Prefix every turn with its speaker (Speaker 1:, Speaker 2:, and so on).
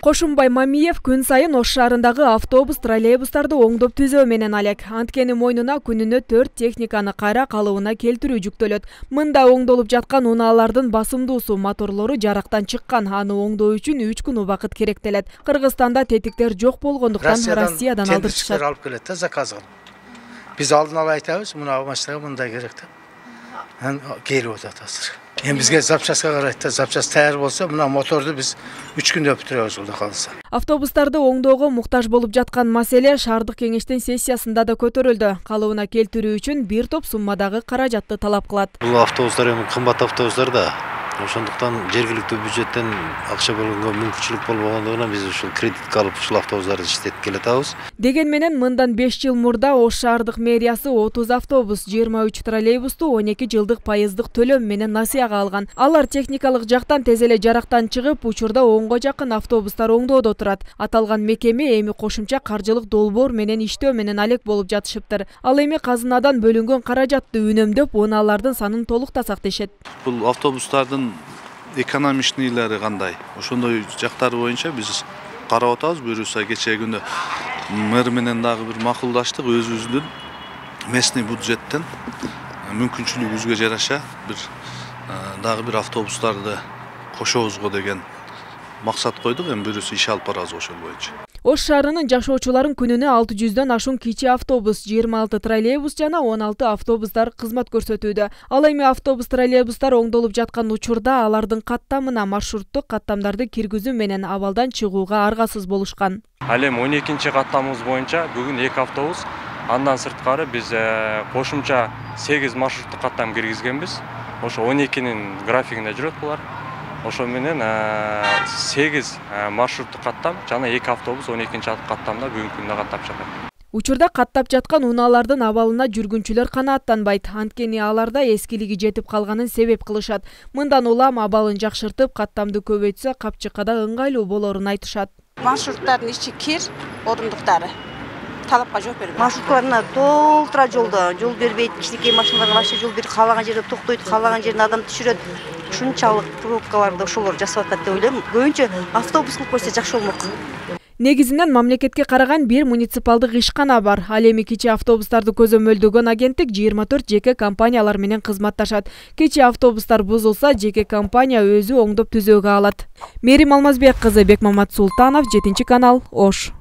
Speaker 1: Кошумбай Мамиев күн сайын Ош шаарындагы автобус, троллейбустарды оңдоп түзөө менен алек. Анткени мойнуна күнүнө 4 техниканы кайра калыбына келтирүү жүктөлөт. Мында оңдолуп жаткан унаалардын басымдуусу, моторлору жарактан чыккан. Аны оңдоо үчүн 3 күн убакыт керектелет. Кыргызстанда тетиктер жок болгондуктан Россиядан алдырышат.
Speaker 2: Алып келет да заказ кылып. Биз алдын ала айтабыз, мына машинага мындай керек деп. Келип атат азыр. Бизге запчастка карайт да, запчаст таяр болсо, мына моторду биз 3 күндө бүтүрөбүз Кудай кааласа.
Speaker 1: Автобустарды оңдоого муктаж болуп жаткан маселе шаардык кеңештин сессиясында да көтөрүлдү. Калыбына келтирүү үчүн бир топ суммадагы каражатты талап кылат.
Speaker 3: Бул автобустар эми кымбат автобустар да. Ошондуктан жергиликтүү бюджеттен акча бөлгөнгө мүмкүнчүлүк болбогондугунан биз ушул кредитке алып ушул автобустарды иштетип келатабыз.
Speaker 1: Деген менен мындан 5 жыл мурда Ош шаардык мэриясы 30 автобус, 23 троллейбусту 12 жылдык пайыздык төлөм менен насыяга алган. Алар техникалык жактан тез эле жарактан чыгып, учурда 10го жакын автобустар оңдоодо турат. Аталган мекеме эми кошумча каржылык долбоор менен иштөө менен алек болуп жатышыптыр. Ал эми казынадан бөлүнгөн каражатты үнөмдөп, унаалардын санын толуктасак дешет.
Speaker 4: Бул автобустардын экономичныйлары кандай? Ошондой жактары боюнча биз карап атабыз. Буюрса кечээ күнү мэр менен дагы бир макулдаштык, өзүбүздүн местный бюджеттен мүмкүнчүлүгүбүзгө жараша дагы бир автобустарды кошобузго деген максат койдук. Эми буюрса иш алып барабыз ошол боюнча.
Speaker 1: Ош шаарынын жашоочуларын күнүнө 600дөн ашуун кичи автобус, 26 троллейбус жана 16 автобустар кызмат көрсөтүүдө. Ал эми автобус, троллейбустар оңдолуп жаткан учурда алардын каттамына маршруттук каттамдарды киргизүү менен абалдан чыгууга аргасыз болушкан.
Speaker 5: Ал эми 12-чи каттамыбыз боюнча бүгүн 2 автобус, андан сырткары биз кошумча 8 маршруттук каттам киргизгенбиз. Ошо 12-нин графигинде жүрөт булар. Ошо менен 8 маршруттук каттам жана 2 автобус 12-чи каттамда бүгүнкү күндө каттап жатат.
Speaker 1: Учурда каттап жаткан унаалардын абалына жүргүнчүлөр канааттанбайт. Анткени аларда эскилиги жетип калганын себеп кылышат. Мындан улам абалын жакшыртып, каттамды көбөйтсө капчыкка да ыңгайлуу болорун айтышат.
Speaker 6: Маршруттардын ичи кир, орындуктары талапка жооп бербейт.
Speaker 7: Маршруткаларына толтура жол бербейт. Кичинекей машиналарга вообще жол берип, каалаган жерде токтойт, каалаган жерине адам түшүрөт. Ушунчалык пробкаларды ошолор жасап атат деп ойлойм. Көбүнчө автобус кылып койсо жакшы болмок.
Speaker 1: Негизинен мамлекетке караган бир муниципалдык ишкана бар. Ал эми кичи автобустарды көзөмөлдөгөн агенттик 24 жеке компаниялар менен кызматташат. Кичи автобустар бузулса, жеке компания өзү оңдоп түзөөгө алат. Мерим Алмазбек кызы, Бекмамат Султанов, 7 канал, Ош.